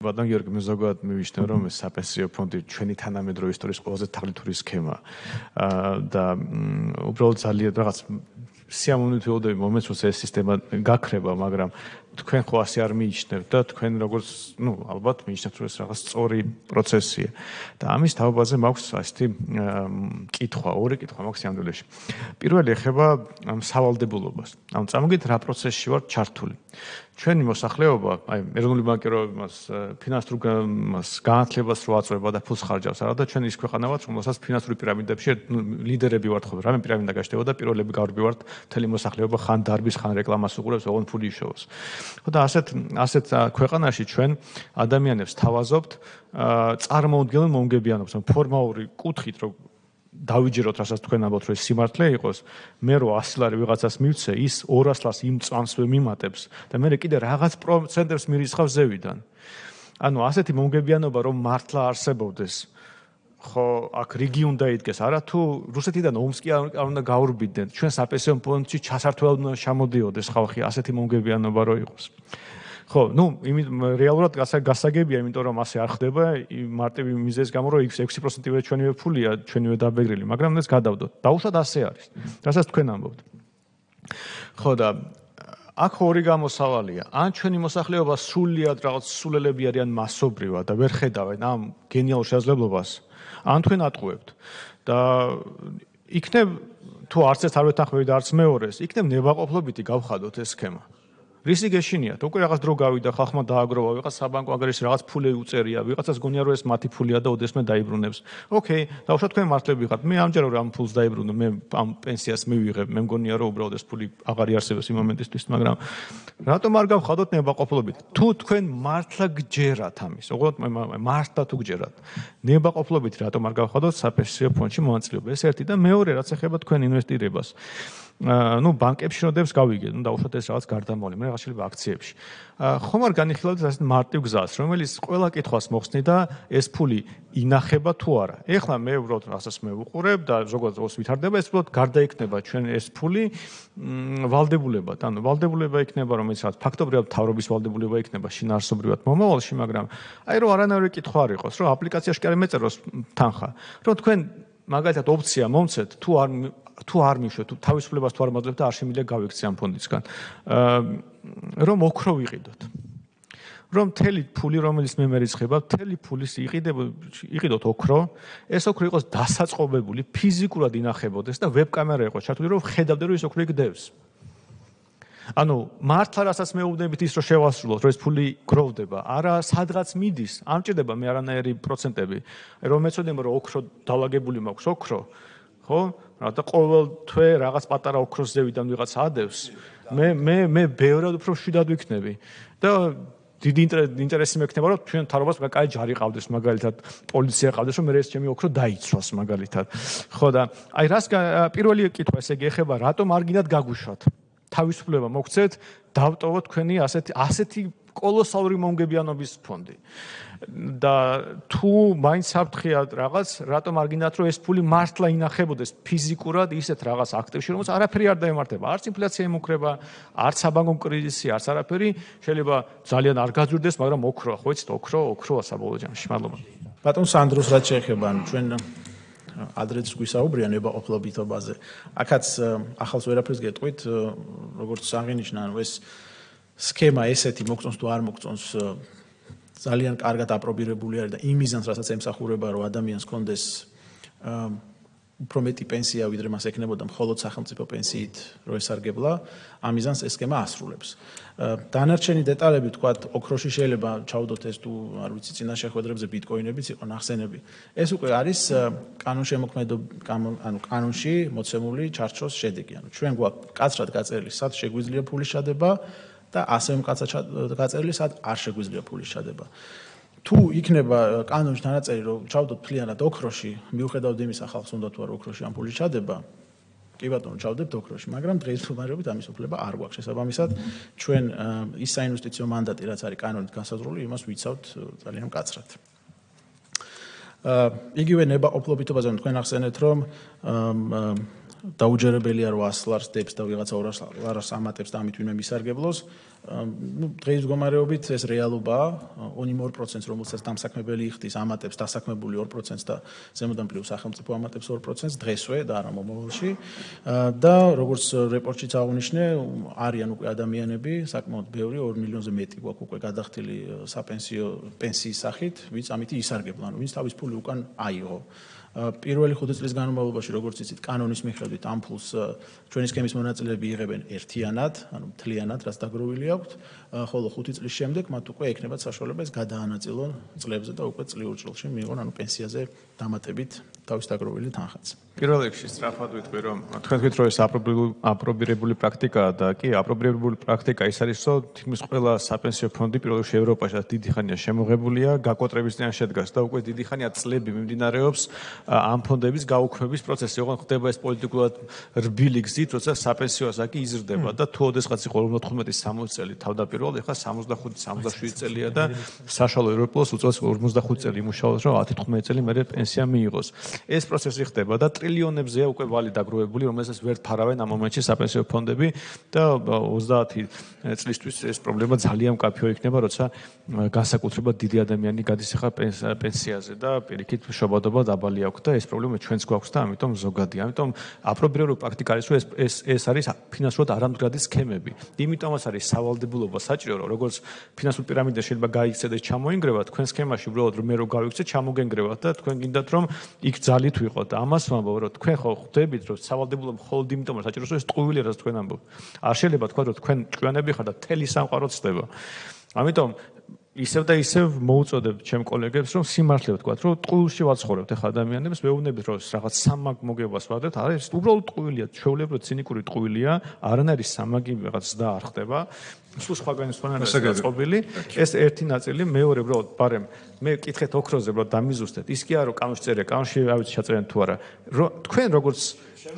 ბატონ გიორგი, მე ზოგადად მივიშნე, რომ ეს საპენსიო ფონდი ჩვენი თანამედროვე ისტორიის ყველაზე თაღლითური სქემაა. და უბრალოდ ძალიან რაღაც სიამოვნებით ვიყოდები მომენტს, რომ ეს სისტემა გაქრება, მაგრამ თქვენ ხო ასე არ მიიჩნევთ და თქვენ როგორც, ალბათ მიიჩნევთ, რომ ეს რაღაც სწორი პროცესია. და ამის თაობაზე მაქვს ასეთი ორი კითხვა მაქვს სამდვილეში. პირველი ეხება სავალდებულობას. წამოგით რა პროცესში ვართ ჩართული. ჩვენი მოსახლეობა, ეროვნული ბანკირობაც ფინანსურ განათლებას რო აწვება და ფულს ხარჯავს, არა და ჩვენ ის ქვეყანა ვართ, რომელსაც ფინანსური პირამიდებში ლიდერები ვართ ხოლმე. რამე პირამიდა გაჩნდება და პირველები გავარბივართ, მთელი მოსახლეობა ხან დარბის, ხან რეკლამას უყურებს, ოღონდ ფული იშოვოს. და ასეთ ქვეყანაში ჩვენ ადამიანებს თავაზობთ წარმოუდგენელ მომგებიანობს, ფორმალური კუთხით, რომ დავიჯეროთ, რასაც თქვენ ამბობთ, რომ ეს სიმართლე იყოს, მე რო 100 ლარი ვიღაცას მივცე, ის 200 ლარს იმ წამსვე მიმატებს და მე კიდე რაღაც პროცენტებს მირისხავს ზევიდან. ანუ ასეთი მომგებიანობა რომ მართლა არსებობდეს, ხო, აქ რიგი უნდა იდგეს, არა თუ რუსეთიდან ომსკი არ უნდა გაურბიდნენ, ჩვენ საპენსიო ფონდში ჩასართვად უნდა შემოდიოდეს ხალხი, ასეთი მომგებიანობა რო იყოს. ხო, რეალურად გასაგებია, იმიტომ რომ ასე არ ხდება, მარტივი მიზეზის გამო, რომ 6%-ივე ჩვენივე ფულია, ჩვენივე დაბეგრილი, მაგრამ ეს გადავდოთ. დაუშვათ ასე არის. რასაც თქვენ ამბობთ. ხო და აქ ორი გამოსავალია. ან ჩვენი მოსახლეობა სრულიად რაღაც სულელები არიან მასობრივად და ვერ ხედავენ ამ გენიალურ შესაძლებლობას, ან თქვენ ატყუებთ. და იქნებ თუ არც ერთ არ ვეთანხმები და არც მეორეს, იქნებ ნებაყოფლობითი გავხადოთ ეს სქემა. რისი გეშინიათ? უკვე რაღაც დრო გავიდა, ხალხმა დააგროვა, ვიღაც საბანკო აგრესში რაღაც ფული უწერია, ვიღაცას გონია რომ ეს მათი ფულია და ოდესმე დაიბრუნებს. ოკეი, დავუშვათ თქვენ მართლები ხართ. მე ამჯერად რომ ამ ფულს დაიბრუნო, მე ამ პენსიას მივიღებ, მე მგონია რომ უბრალოდ ეს ფული აღარ იარსებებს იმ მომენტისთვის, მაგრამ რატომ არ გავხადოთ ნებაყოფლობით? თუ თქვენ მართლა გჯერათ ამის, უბრალოდ მართლა თუ გჯერათ, ნებაყოფლობით რატომ არ გავხადოთ საპენსიო ფონდში მონაწილეობა? ეს ერთი და მეორე, რაც ეხება თქვენ ინვესტირებას. ბანკებში შედებს გავიგეთ, დაუშვათ ეს რაღაც გარდამავალი, მე რაღაც შეიძლება აქციებში. ხომ არ განიხილავთ ასეთ მარტივ გზას, რომელიც ყველა კითხვას მოხსნი და ეს ფული ინახება თუ არა. ეხლა მე უბრალოდ რასაც მე ვუყურებ და ზოგადად ოს ვითარდება, ეს უბრალოდ გარდაიქნება ჩვენ ეს ფული ვალდებულებად. ანუ ვალდებულება იქნება, რომელიც რაღაც ფაქტობრივად თავრობის ვალდებულება იქნება შინაარსობრივად მომავალში, მაგრამ რომ არანაირი კითხვა არ იყოს, რომ აპლიკაციაში კი არ მეწეროს თანხა, რომ თქვენ მაგალითად ოფცია მომცეთ, თუ არ მიშვეთ, თუ თავისუფლებას თუ არ მაძლევთ და არ შემიძლია გავიქცე ამ ფონდისგან. რომ ოქრო ვიყიდოთ. რომ მთელი ფული, რომელიც მე მერიცხება, მთელი ფულის იყიდოთ ოქრო, ეს ოქრო იყოს დასაწყობებული, ფიზიკურად ინახებოდეს და ვებკამერა იყოს ჩართული, რომ ხედავდე, რომ ეს ოქრო იქ ანუ მართლა რასაც მეუბნებით ის რომ შევასრულოთ, რომ ეს ფული გროვდება, არა სადღაც მიდის, არ მჭირდება მე არანაირი პროცენტები, რომ მეცოდნე რომ ოქრო დაალაგებული მაქვს ოქრო, ხო? და ყოველ თვე რაღაც პატარა ოქროს ზევიდან ვიღაც ადევს, მე ბევრად უფრო მშვიდად ვიქნები და დიდი ინტერესი მექნება, რომ ჩვენ თავრობას კაი ჯარი ყავდეს, მაგალითად, პოლიცია ყავდეს, რომ მე ეს ჩემი ოქრო დაიცვას, მაგალითად. ხო და რას პირველი კითხვა ესე იგი ეხება, რატომ არ გინდათ გაგუშვათ? თავისუფლება მოგცეთ, დავტოვოთ თქვენი ასეთი კოლოსალური მომგებიანობის ფონდი. და თუ მაინც საფრთხეა რაღაც, რატომ არ გინდათ რომ ეს ფული მართლა ინახებოდეს ფიზიკურად ისეთ რაღაც აქტივში, რომელსაც არაფერი არ დაემართება, არც ინფლაცია იმუქრება, არც საბანკო კრიზისი, არც არაფერი, შეიძლება ძალიან არ გაძვირდეს, მაგრამ ოქროა, ხო იცით, ოქროა საბოლოო ჯამში. მადლობა. ბატონ სანდროს რაც შეეხება, ჩვენ ადრეც გვისაუბრია ნებაყოფლობითობაზე. აქაც ახალს ვერაფერს გეტყვით, როგორც აღინიშნა, ეს სქემა ესეთი მოგწონს თუ არ მოგწონს ძალიან კარგად აპრობირებული არის და იმ მიზანს, რასაც ემსახურება, რომ ადამიანს ჰქონდეს უფრო მეტი პენსია, ვიდრე მას ექნებოდა მხოლოდ სახელმწიფო პენსიით, რომ ესარგებლა, ამ მიზანს ეს სქემა ასრულებს. დანარჩენი დეტალები, თქვათ, ოქროში შეიძლება ჩაუდოთ ეს თუ არ ვიცი, წინა შეხვედრებზე ბიტკოინებიც იყო ნახსენები. ეს უკვე არის კანონში მოცემული ჩარჩოს შედეგი. ანუ ჩვენ გვაქვს კაცრად გაწერილი, სად შეგვიძლია ფულის ჩადება და ასევე მკაცრად გაწერილი, სად არ შეგვიძლია ფულის ჩადება. თუ იქნება კანონში დანაწერი, რომ ჩავდოთ მთლიანად ოქროში, მიუხედავად იმისა, ხალხს უნდა თუ არ ოქროში ამ ფულის ჩადება, კი ბატონო, ჩავდებთ ოქროში, მაგრამ დღის მდგომარეობით ამის უფლება არ გვაქვს. შესაბამისად, ჩვენ ის საინვესტიციო მანდატი, რაც არის კანონით განსაზღვრული, იმას ვიცავთ ძალიან მკაცრად. იგივე ნებაყოფლობითობაზე თქვენ ახსენეთ, რომ დაუჯერებელია 800 ლარს დებს და ვიღაცა 200 ლარს ამატებს და ამით ვინმე მისარგებლოს. დღეის მდგომარეობით ეს რეალობაა. 2% რომელსაც დამსაქმებელი იხდის, ამატებს დასაქმებული 2% და ზემოდან პლუს სახელმწიფო ამატებს 2% დღესვე და არა მომავალში. და როგორც რეპორტშიც აღნიშნე, არიან უკვე ადამიანები, საკმაოდ ბევრი, 2 მილიონზე მეტი გვაქვს უკვე გადახდილი საპენსიო პენსიის სახით, ვინც ამითი ისარგებლა, ვინც თავის ფული უკან აიღო. პირველი 5 წლის განმავლობაში, როგორც იცით, კანონის მიხედვით ამ ფულს ჩვენი სქემის მონაწილეები იღებენ ერთიანად, ანუ მთლიანად, რაც დაგროვილი აქვთ, ხოლო 5 წლის შემდეგ მათ უკვე ექნებათ საშუალება ეს გადაანაწილონ წლებზე და უკვე წლიურ წილში მიიღონ, ანუ პენსიაზე დამატებით თავის დაგროვილი თანხაც. პირველ რიგში სწრაფად ვიტყვი, რომ თქვენ თქვით, რომ ეს აპრობირებული პრაქტიკაა და კი, აპრობირებული პრაქტიკა ის არის, რომ თითქმის ყველა საპენსიო ფონდი პირველ რიგში ევროპაში დიდი ხანია შემოღებულია, გაკოტრების წინაშე შედგას და უკვე დიდი ხანია წლები მიმდინარეობს ამ ფონდების გაუქმების პროცესი. ოღონდ ხდება ეს პოლიტიკურად რბილი გზით, როცა საპენსიო ასაკი იზრდება და თუ ოდესღაც იყო 55-60 წელი თავდაპირველად, ეხლა 65-67 წელია და საშუალო ევროპულოს უწევს 55 წელი იმუშაოს, რომ 10-15 წელი მერე პენსია მიიღოს. ეს პროცესი ხდება და ტრილიონებზეა უკვე ვალი დაგროვებული, რომელსაც ვერ ფარავენ ამ მომენტში საპენსიო ფონდები და 30 წლისთვის ეს პრობლემა ძალიან მკაფიო იქნება, როცა განსაკუთრებულად დიდი ადამიანი გადის ახლა პენსიაზე და პირიქით შობადობა დაბალი აქვს და ეს პრობლემა ჩვენც გვაქვს და ამიტომ ზოგადია. ამიტომ აპრობირებული პრაქტიკა არის, რომ ეს არის ფინანსურად არამდგრადი სქემები. იმიტომაც არის სავალდებულობა საჭირო, რომ როგორც ფინანსურ პირამიდას შეიძლება გაიქცეთ და ჩამოინგრევათ, თქვენ სქემაში უბრალოდ რომ მე რო გავიქცეთ, ჩამოგენგრევათ და თქვენ გინდათ რომ იქ ძალით ვიყოთ. და ამას ვამბობ, რომ თქვენ ხო ხვდებით, რომ სავალდებულობა მხოლოდ იმიტომ რომ საჭიროს, რომ ეს ტყუილია, რაც თქვენ ამბობთ. არ შეიძლება თქვა, რომ თქვენ ჭკვიანები ხართ და თელი სამყარო ცდება. ამიტომ ისევ და ისევ მოუწოდებ ჩემ კოლეგებს, რომ სიმართლე ვთქვათ, რომ ტყუილში ვაცხოვრებთ ახლა ადამიანებს, მეუბნებით, რომ რაღაც სამაგ მოგებას ვადეთ, არის უბრალოდ ტყუილია, ჩვეულებრივ რომ ცინიკური ტყუილია, არანაირი სამაგი რაღაც და არ ხდება. სულ სხვაგანი წყობილი, ეს ერთი ნაწილი, მეორე უბრალოდ ბარემ მე კითხეთ ოქროზე, უბრალოდ დამიზუსტეთ. ის კი არა, რომ კანონში წერია, კანონში რა ვიცი ჩაწერენ თუ არა. თქვენ როგორც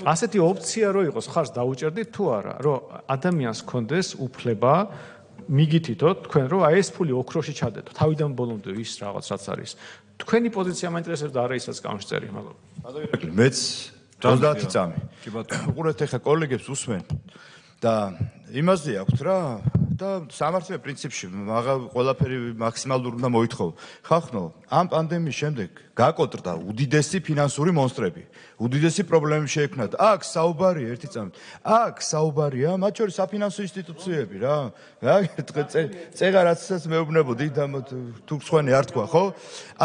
ასეთი ოპცია რო იყოს, ხარს დაუჭერდით თუ არა, რომ ადამიანს კონდეს უფლება მიგითითოთ თქვენ რომ აი ეს ფული ოქროში ჩადეთო თავიდან ბოლომდე ის რაღაც რაც არის თქვენი პოზიცია მაინტერესებს და არა ისაც კანონში წერია მაგრამ მეც 30 წამი უყურეთ ახლა კოლეგებს უსმენ და იმაზე აქვს რა და სამართლია პრინციპში ყველაფერი მაქსიმალურად უნდა მოითხოვო ხახნო ამ პანდემიის შემდეგ გაკოტრდა უდიდესი ფინანსური მონსტრები უდიდესი პრობლემები შეექმნათ აქ საუბარია ერთი წამით აქ საუბარია მათ შორის საფინანსო ინსტიტუციები რა წეღა რაცაც მეუბნებოდი და თუ სხვანი არ თქვა ხო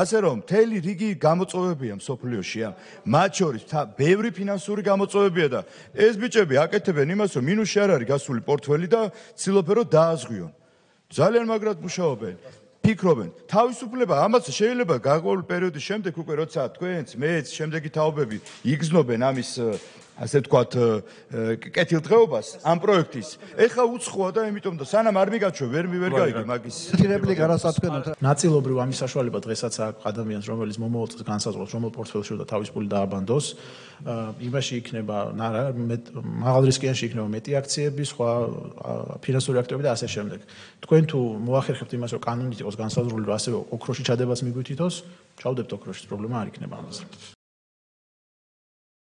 ასე რომ მთელი რიგი გამოწვევებია მსოფლიოშია მათ შორის ბევრი ფინანსური გამოწვევებია და ეს ბიჭები აკეთებენ იმას რომ მინუსში არ არის გასული პორტფელი და ცდილობენ რომ დააზღვიონ ძალიან მაგრად მუშაობენ ფიქრობენ თავისუფლება ამას შეიძლება გარკვეული პერიოდის შემდეგ უკვე როცა თქვენც მეც შემდეგი თაობები იგრძნობენ ამის ასე ვთქვათ კეთილდღეობას ამ პროექტის ეხა უცხოა და იმიტომ და სანამ არ მიგაჩვევ ვერ გაიგე მაგის რეპლიკა რასაც თქვენოთ ნაწილობრივ ამის საშუალება დღესაც აქვს ადამიანს რომელიც მომავალ წელს განსაზღვრავს რომელ პორტფელში და თავის ფული დააბანდოს იმაში იქნება მაღალ რისკიანში იქნება მეტი აქციები სხვა ფინანსური აქტივები და ასე შემდეგ თქვენ თუ მოახერხებთ იმას რომ კანონით იყოს განსაზღვრული რომ ასევე ოქროში ჩადებაც მიგვითითოს ჩავდებთ ოქროშიც პრობლემა არ იქნება ამაზე